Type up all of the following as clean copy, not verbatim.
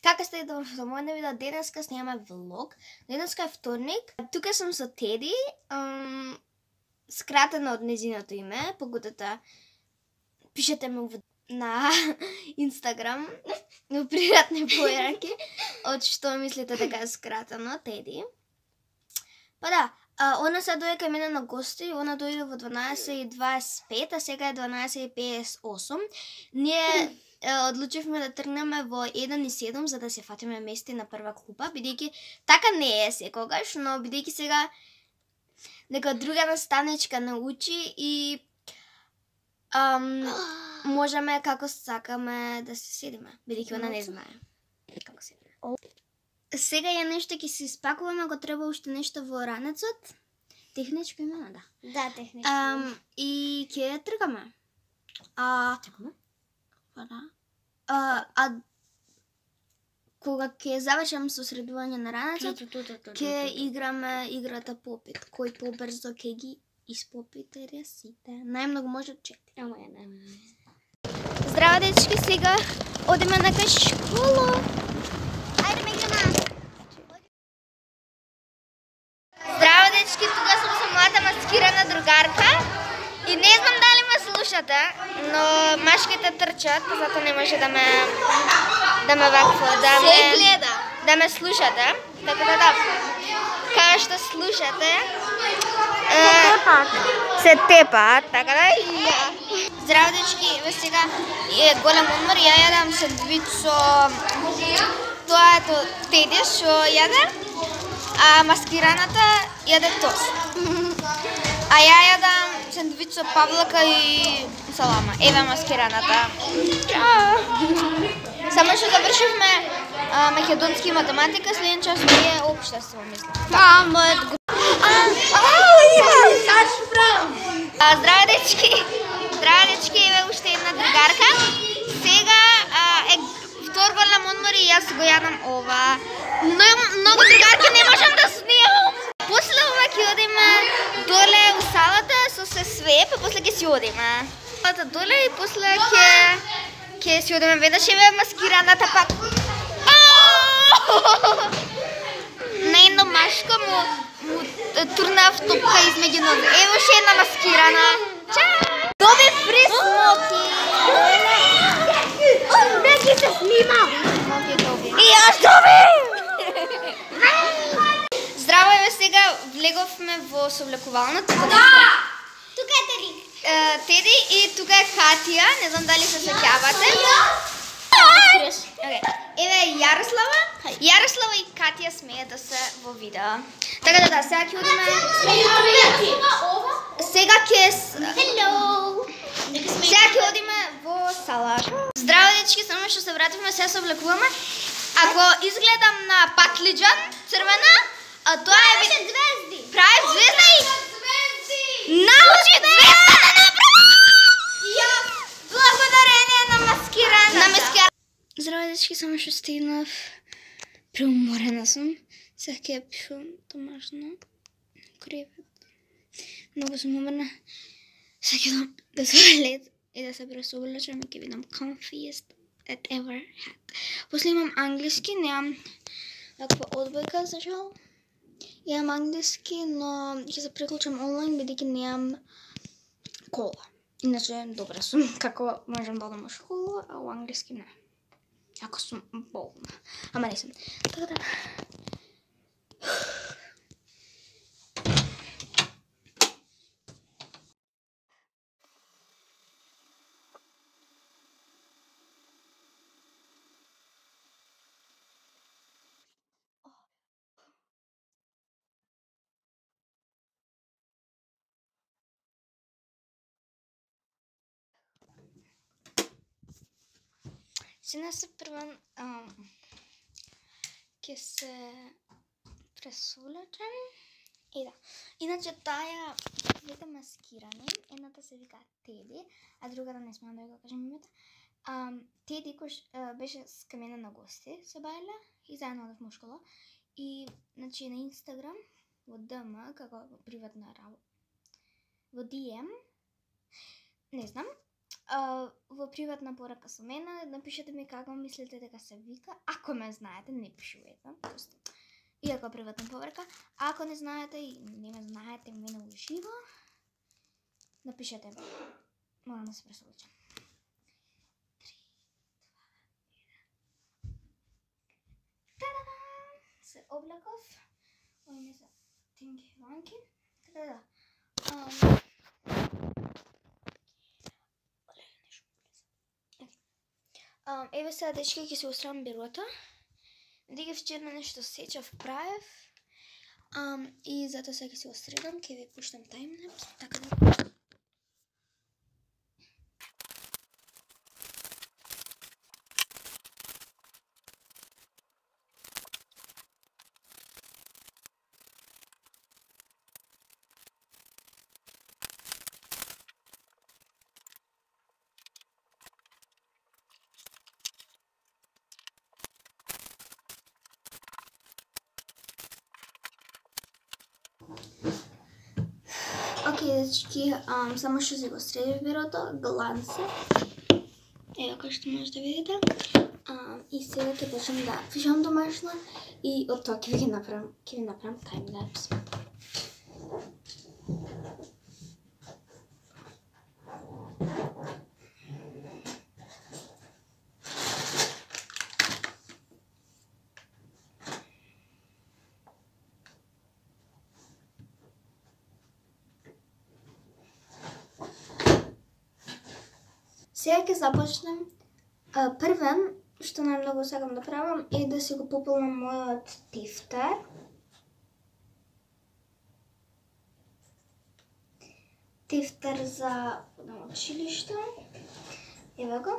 Како сте до мојот видео, денеска снимаме влог. Денеска е вторник. Тука сум со Теди. Скратено од незиното име, погодата пишете ме на Инстаграм во приватни појаки од што мислите дека е скратено, Теди. Па да, она се дојде кај мене на гости, она дојде во 12:25, а сега е 12:58. Ние одлучивме да тргнеме во 1:07 за да се фатиме место на прва клупа, бидејќи така не е секогаш, но бидејќи сега нека друга наставничка научи и можеме како сакаме да се седиме, бидејќи она не знае како се. Сега е нешто ќе се испакуваме, ако треба уште нешто во ранецот. Техничко имаме, да. Да, техничко. И ќе тргаме. Чекаме. Кога ќе завршам сосредување на ранецот, ќе играме играта попит. Кој побрзо ќе ги испопите ресите. Најмногу може 4. Ама ја не. Здраво, дечки, сега одиме на кај школа. Ајде ме играме. Здраво, дечки, тука сум со мојата маскирана другарка. И не знам дали ме слушате, но машките трчат, затоа не може да ме вакво, да ме слушате. Така да, као што слушате, се тепаат, така да. Здраво, дечки, сега е голем одмор, ја јадам сендвич со тоа ето Теди што јаде, а маскираната јаде тост. А ја јадам сендвич со павлака и салама. Ева маскираната. Чао! Само што завршивме македонски математика, следен час ми е општество, мислам. Мојот Здраво, дечки! Здраво, дечки, еве уште една другарка. Сега е втор голем одмор и јас го јадам ова. Многу другарки не можам да снимам. После ова ќе одиме доле у салата со се све, па после ќе си одиме. Салата доле и после ќе си одиме веднаш, еве маскираната пак. Најно машко му турнав топка измеѓу нозе. Ево ше една маскирана. Чао! Доби фри смоки. Не ги се снима. И јас доби! Здраво, еве сега влеговме во совлекувалната. Тука е Теди. Теди и тука е Катија, не знам дали се сеќавате. Еве Јарослава и Катија смеат да се во видео. Така да, сега ќе одиме. Сега ќе одиме во сала. Здраво, дечки, само што се вративме, сега се облекуваме. Ако изгледам на патлиџан црвена, а тоа е звезди. Прави звезда и научи звезда да направи. Благодарение на маскирана. Здраво, дечки, само што стигнав. Преуморена сум. Сега ќе пишувам домашно. Кревет. Многу сум уморна. Сега ќе дам да се лед и да се пресоблечам и ќе видам comfiest that ever had. После имам англиски, немам ваква одбојка за жал. Имам англиски, но ќе се преклучам онлайн бидејќи немам кола. Иначе добра сум како можам да одам во школа, а во англиски не. Ако сум болна. Ама не сум. Така да. Сега се првен ќе се пресолечам и да. Иначе таа двете маскирани, едната се вика Теди, а другата не смеам да ја кажам името. Теди кој беше кај мене на гости, се бајле и заедно одевме во школа. И значи на Инстаграм во ДМ како приватна работа. Во DM не знам. во приватна порака со мене, напишете ми како мислите дека се вика. Ако ме знаете, не пишувате. Иако приватна порака. Ако не знаете и не ме знаете мене уживо, напишете. Морам да се пресоличам. 3, 2, 1. Та-да! Се облеков. Ој не се тинги ванки. Така да. Еве сега, дечки, ќе се устрам бирото. Дига вчера нешто сечав, правев. И затоа сега ќе се устредам, ќе ви пуштам таймлапс, така да. Океј, дечки, само што си го средив бирото, глансе. Ево како што можете да видите. И сега ќе почнем да пишам домашно и од тоа ќе ви направам таймлапс. Сега ќе започнем. Првен, што најмногу сакам да правам, е да си го пополнам мојот тефтер. Тефтер за училиште. Ево го.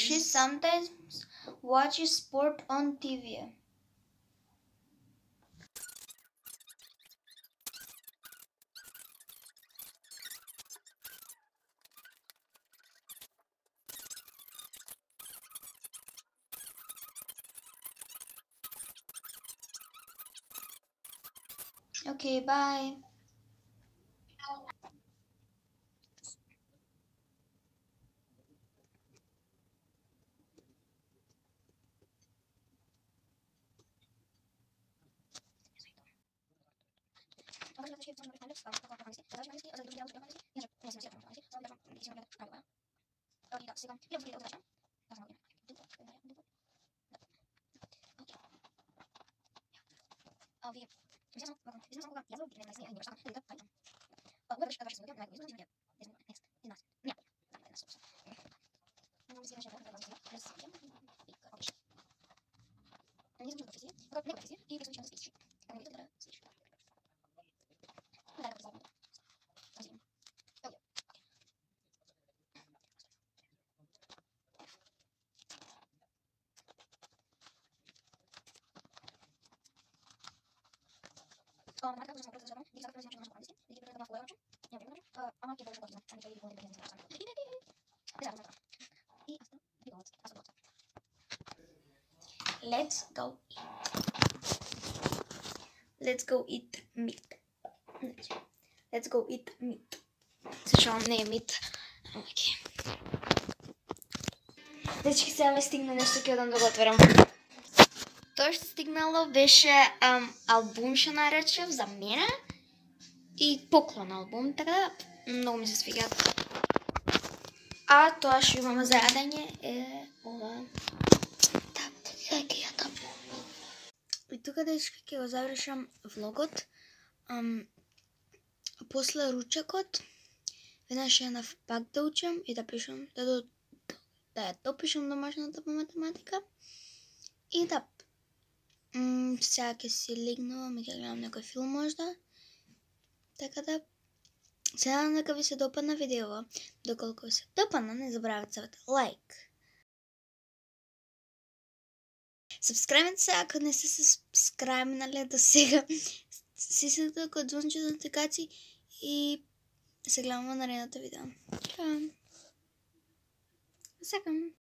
She sometimes watches sport on TV. Okay, bye. Let's go eat. Let's go eat meat. Let's go eat meat. Зашо не е мит. Окей. Дечки, сега ме стигна нешто ќе одам да го отворам. Тоа што стигнало беше албум што наречев за мене и поклон албум, така да многу ми се свиѓа. А тоа што имаме за јадење е ова. И тука, дечки, ќе го завршам влогот. После ручекот веднаш шенав пак да учам и да пишам, да ја допишам домашната по математика. И да, сега ќе си легнувам и ќе гледам некој филм можда. Така да, се надам дека ви се допадна видеото. Доколку ви се допадна, не забравяйте да лайк. Сабскрайбнете се ако не сте сабскрайбнали до сега. Стиснете код звонче за нотификации и се гледаме во наредното видео. Чао! Сакам!